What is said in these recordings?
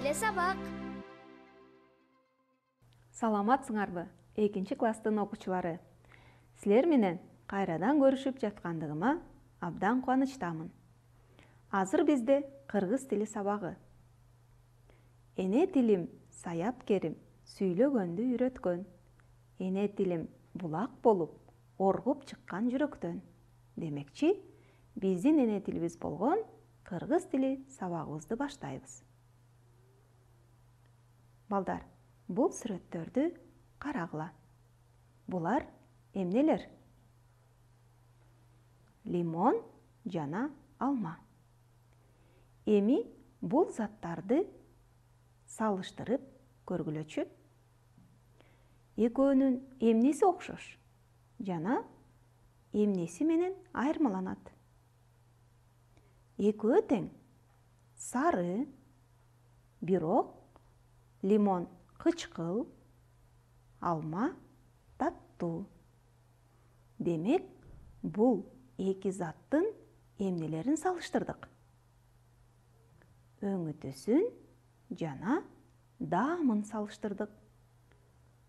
эле сабак. Саламатсыңарбы, 2-класстын окуучулары? Силер менен кайрадан көрүшүп жаткандыгыма абдан кубанычтамын. Азыр бизде кыргыз тили сабагы. Эне тилим саяп керим, сүйлөгөндү үйрөткөн. Эне тилим булак болуп, оргуп чыккан жүрөктөн. Демекчи, биздин эне тилибиз болгон кыргыз тили сабагыбызды баштайбыз. Балдар, бул сүрөттөрдү карагыла. Булар эмнелер? Лимон жана алма. Эми бул заттарды салыштырып көргүлөчү. Экөөнүн эмнеси окшош жана эмнеси менен айырмаланат? Экөө тең. Сары, бирок лимон кычкыл, алма таттуу. Демек, бул эки заттын эмнелерин салыштырдык? Өңүтүсүн жана даамын салыштырдык.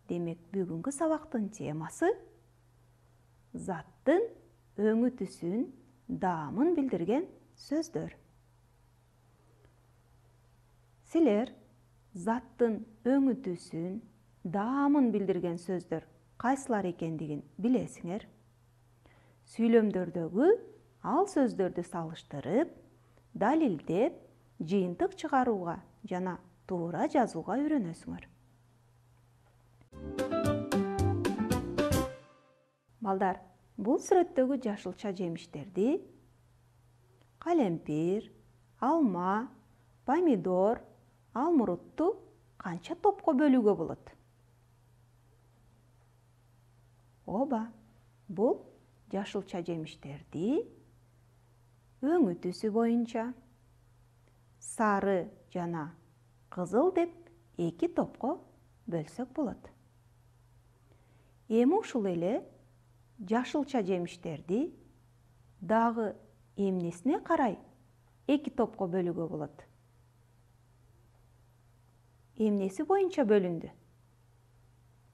Демек, бүгүнкү сабактын темасы заттын өңүтүсүн, даамын билдирген сөздөр. Силер заттын өңүтүсүн, даамын билдирген сөздөр кайсылар экендигин билесиңер. Сүйлөмдөрдөгү ал сөздөрдү салыштырып, далилдеп, жыйынтык чыгарууга жана туура жазууга үйрөнөсүңөр. Балдар, бул сүрөттөгү жашылча жемиштерди калемпир, алма, помидор, алмурутту канча топко бөлүүгө болот? Ооба, бул жашылча жемиштерди өңүтүсү боюнча сары жана кызыл деп эки топко бөлсөк болот. Эми ушул эле жашылча жемиштерди дагы эмнесине карай эки топко бөлүүгө болот? Эмнеси боюнча бөлүндү?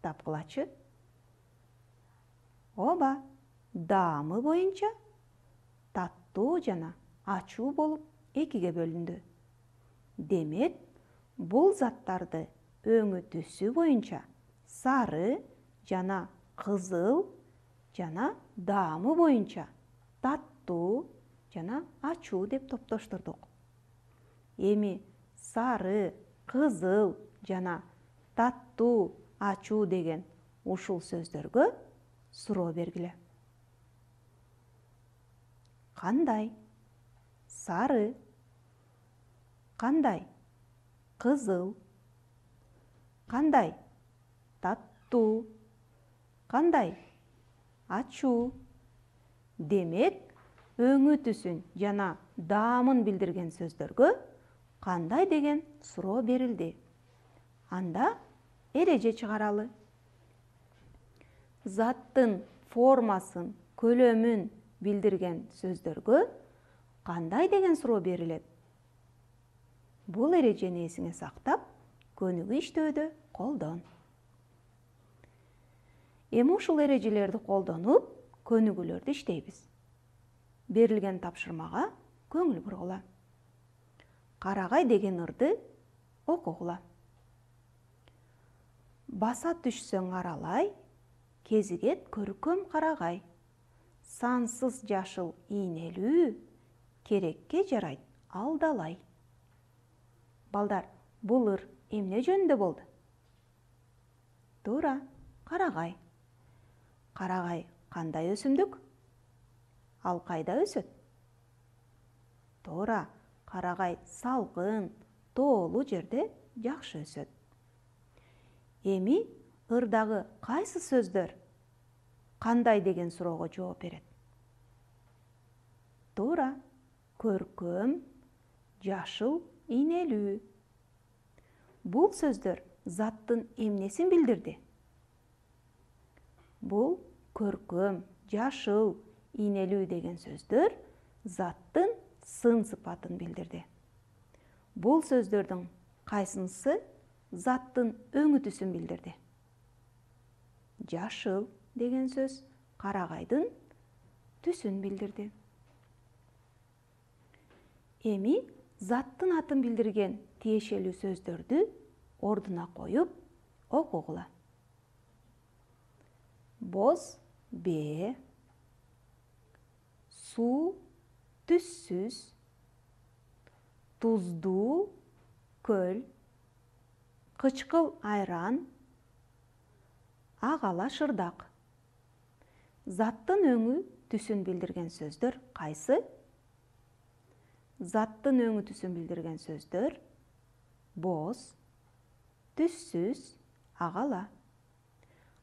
Тапкылачы. Ооба, даамы боюнча таттуу жана ачуу болуп экиге бөлүндү. Демек, бул заттарды өңүтүсү боюнча сары жана кызыл жана даамы боюнча таттуу жана ачуу деп топтоштурдук. Эми сары, кызыл жана таттуу, ачуу деген ушул сөздөргө суроо бергиле. Кандай? Сары. Кандай? Кызыл. Кандай? Таттуу. Кандай? Ачуу. Демек, өңүтүсүн жана даамын билдирген сөздөргө кандай деген суроо берилди. Анда эреже чыгаралы. Заттын формасын, көлөмүн билдирген сөздөргө кандай деген суроо берилет? Бул эрежени эсиңе сактап, көнүгүү иштөөдө колдон. Эми ушул эрежелерди колдонуп, көнүгүүлөрдү иштейбиз. Берилген тапшырмага көңүл бургула. Карагай деген ырды окугула. Баса түшсөң аралай, кезигет көркөм карагай. Сансыз жашыл ийнелүү, керекке жарайт алдалай. Балдар, бул ыр эмне жөнүндө болду? Туура, карагай. Карагай кандай өсүмдүк? Ал кайда өсөт? Туура, карагай салкын, тоолуу жерде жакшы өсөт. Эми ырдагы кайсы сөздөр кандай деген суроого жооп берет? Туура, көркөм, жашыл, ийнелүү. Бул сөздөр заттын эмнесин билдирди? Бул көркөм, жашыл, ийнелүү деген сөздөр заттын сын сыпатын билдирди. Бул сөздөрдүн кайсынысы заттын өңү түсүн билдирди? Жашыл деген сөз карагайдын түсүн билдирди. Эми заттын атын билдирген тиешелүү сөздөрдү ордуна коюп окугула. Боз бээ, суу түссүз, туздуу көл, кычкыл айран, ак ала шырдак. Заттын өңү түсүн билдирген сөздөр кайсы? Заттын өңү түсүн билдирген сөздөр боз, түссүз, ак ала.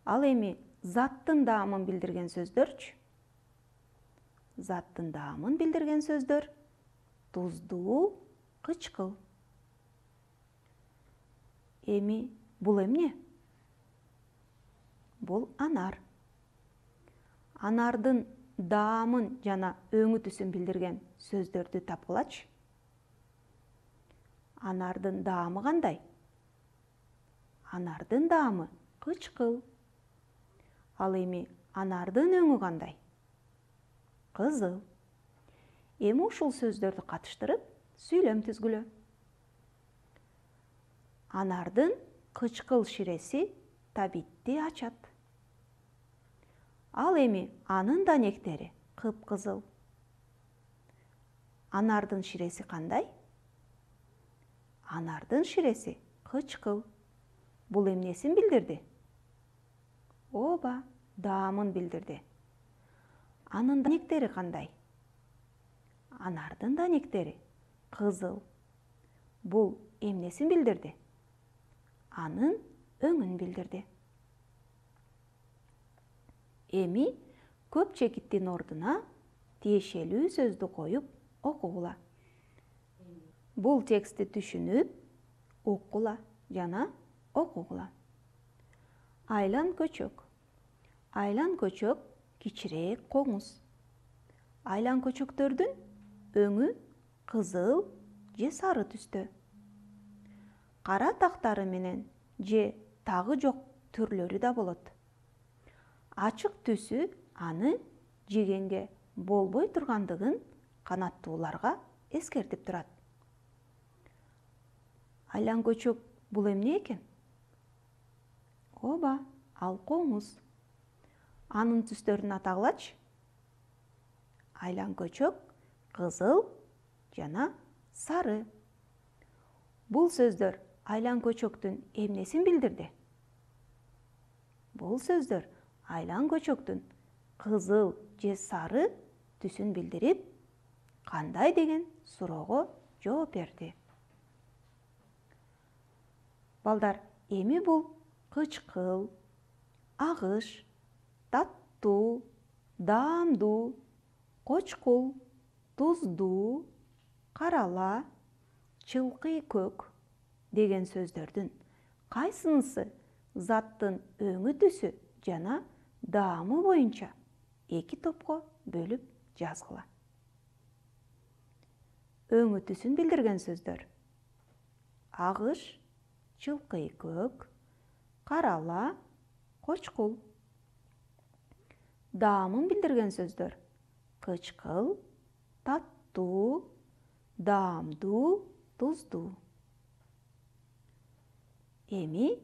Ал эми заттын даамын билдирген сөздөрчү? Заттын даамын билдирген сөздөр туздуу, кычкыл. Эми бул эмне? Бул анар. Анардын даамын жана өңү түсүн билдирген сөздөрдү тапкылачы. Анардын даамы кандай? Анардын даамы кычкыл. Ал эми анардын өңү кандай? Кызыл. Эми ушул сөздөрдү катыштырып сүйлөм түзгүлө. Анардын кычкыл ширеси табитти ачат. Ал эми анын данектери кыпкызыл. Анардын ширеси кандай? Анардын ширеси кычкыл. Бул эмнесин билдирди? Ооба, даамын билдирди. Анын данектери кандай? Анардын данектери кызыл. Бул эмнесин билдирди? Анын өңүн билдирди. Эми көп чекиттин ордуна тиешелүү сөздү коюп окугула. Бул текстти түшүнүп, уккула жана окугула. Айлан көчөк. Айлан көчөк кичирээк коңуз. Айлан көчөктөрдүн өңү кызыл же сары түстө. Кара тактары менен же тагы жок түрлөрү да болот. Ачык түсү аны жегенге болбой тургандыгын канаттууларга эскертип турат. Айлан көчөк бул эмне экен? Ооба, ал коңуз. Анын түстөрүн атагылачы. Айлан көчөк кызыл жана сары. Бул сөздөр айлан көчөктүн эмнесин билдирди? Бул сөздөр айлан көчөктүн кызыл же сары түсүн билдирип, кандай деген суроого жооп берди. Балдар, эми бул кычкыл, агыш, таттуу, даамдуу, кочкул, туздуу, карала, чылкый көк деген сөздөрдүн кайсынысы заттын өңү түсү жана даамы боюнча эки топко бөлүп жазгыла. Өңү түсүн билдирген сөздөр агыш, чылкый көк, карала, кочкул. Даамын билдирген сөздөр кычкыл, таттуу, даамдуу, туздуу. Эми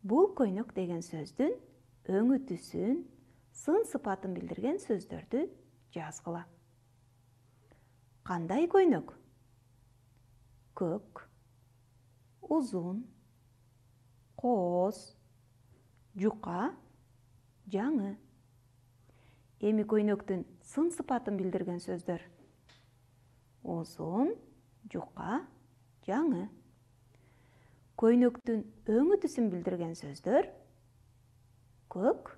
бул көйнөк деген сөздүн өңү түсүн, сын сыпатын билдирген сөздөрдү жазгыла. Кандай көйнөк? Көк, узун, кооз, жука, жаңы. Эми көйнөктүн сын сыпатын билдирген сөздөр узун, жука, жаңы. Көйнөктүн өңү түсүн билдирген сөздөр көк,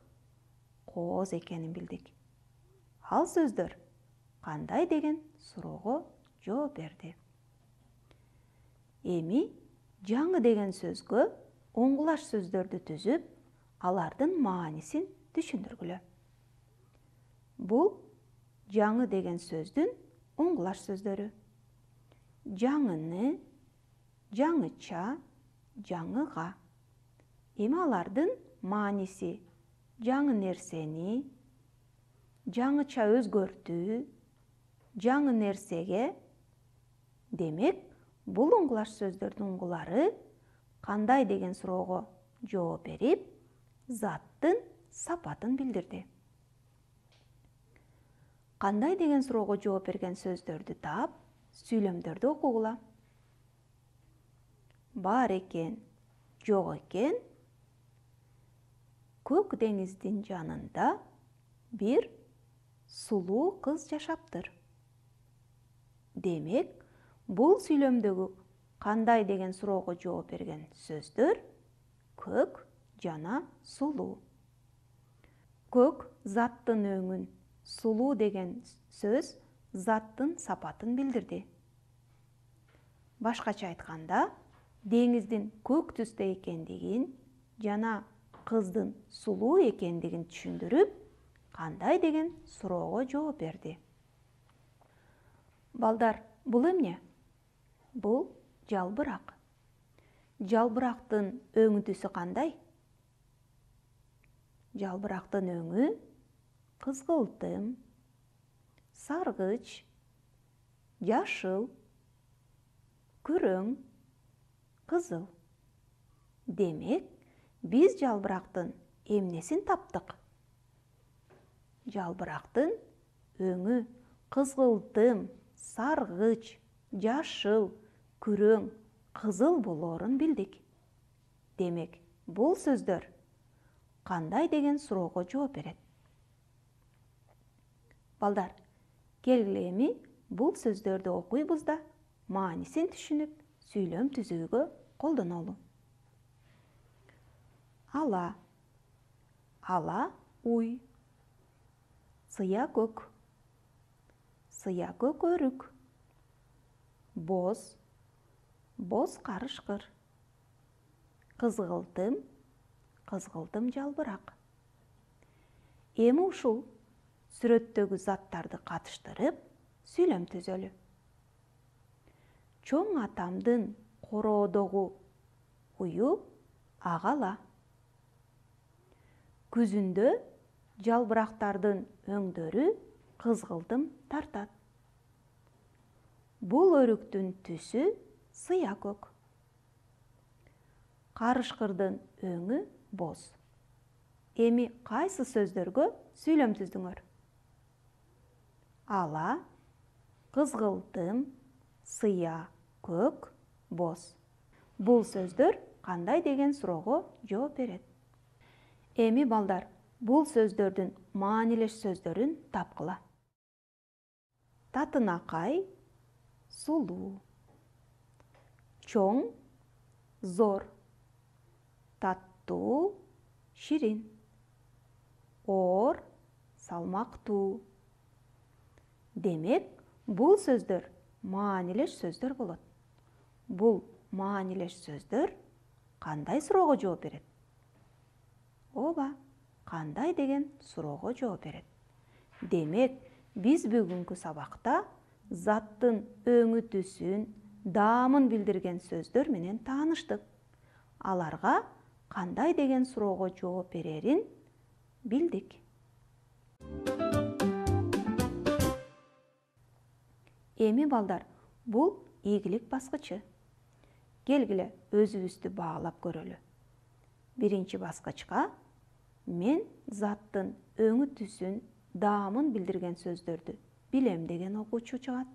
кооз экенин билдик. Ал сөздөр кандай деген суроого жооп берди. Эми жаңы деген сөзгө оңгулаш сөздөрдү түзүп, алардын маанисин түшүндүргүлө. Бул жаңы деген сөздүн оңгулаш сөздөрү. Жаңыны, жаңыча, жаңыга. Эми алардын мааниси жаңы нерсени, жаңыча өзгөртүү, жаңы нерсеге. Демек, бул уңгулаш сөздөрдүн уңгулары кандай деген суроого жооп берип, заттын сапатын билдирди. Кандай деген суроого жооп берген сөздөрдү таап, сүйлөмдөрдү окугула. Бар экен, жок экен. Көк деңиздин жанында бир сулуу кыз жашаптыр. Демек, бул сүйлөмдөгү кандай деген суроого жооп берген сөздөр көк жана сулуу. Көк заттын өңүн, сулуу деген сөз заттын сапатын билдирди. Башкача айтканда, деңиздин көк түстө экендигин жана кыздын сулуу экендигин түшүндүрүп, кандай деген суроого жооп берди. Балдар, бул эмне? Бул жалбырак. Жалбырактын өң түсү кандай? Жалбырактын өңү кызгылтым, саргыч, жашыл, күрөң, кызыл. Демек, биз жалбырактын эмнесин таптык? Жалбырактын өңү кызгылтым, саргыч, жашыл, күрөң, кызыл болоорун билдик. Демек, бул сөздөр кандай деген суроого жооп берет? Балдар, келгиле эми бул сөздөрдү окуйбуз да, маанисин түшүнүп, сүйлөм түзүүгө колдонолу. Ала, ала уй. Сыя көк, сыя көк өрүк. Боз, боз карышкыр. Кызгылтым, кызгылтым жалбырак. Эми ушул сүрөттөгү заттарды катыштырып, сүйлөм түзөлү. Чоң атамдын короодогу ую агала. Күзүндө жалбырактардын өңдөрү кызгылтым тартат. Бул өрүктүн түсү сыя көк. Карышкырдын өңү боз. Эми кайсы сөздөргө сүйлөм түздүңөр? Ала, кызгылтым, сыя көк, боз. Бул сөздөр кандай деген суроого жооп берет? Эми балдар, бул сөздөрдүн маанилеш сөздөрүн тапкыла. Татынакай, сулуу. Чоң, зор. Таттуу, ширин. Оор, салмактуу. Демек, бул сөздөр маанилеш сөздөр болот. Бул маанилеш сөздөр кандай суроого жооп берет? Ооба, кандай деген суроого жооп берет. Демек, биз бүгүнкү сабакта заттын өңү түсүн, даамын билдирген сөздөр менен тааныштык. Аларга кандай деген суроого жооп берерин билдик. Эми балдар, бул ийгилик баскычы. Келгиле өзүбүздү баалап көрөлү. Биринчи баскычка мен заттын өңү түсүн, даамын билдирген сөздөрдү билем деген окуучу чыгат.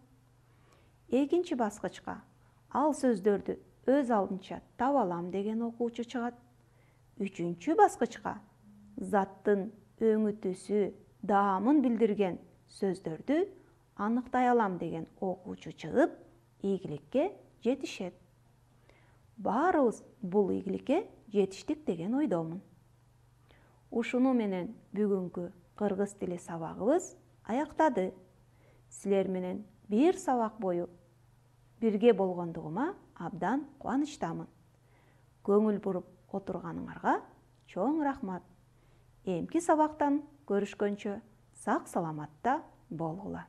Экинчи баскычка ал сөздөрдү өз алдынча таба алам деген окуучу чыгат. Үчүнчү баскычка заттын өңү түсү, даамын билдирген сөздөрдү аныктай алам деген окуучу чыгып, ийгиликке жетишет. Баарыбыз бул ийгиликке жетиштик деген ойдомун. Ушуну менен бүгүнкү кыргыз тили сабагыбыз аяктады. Силер менен бир сабак бою бирге болгондугума абдан кубанычтамын. Көңүл буруп отурганыңарга чоң рахмат. Эмки сабактан көрүшкөнчө сак саламатта болгула.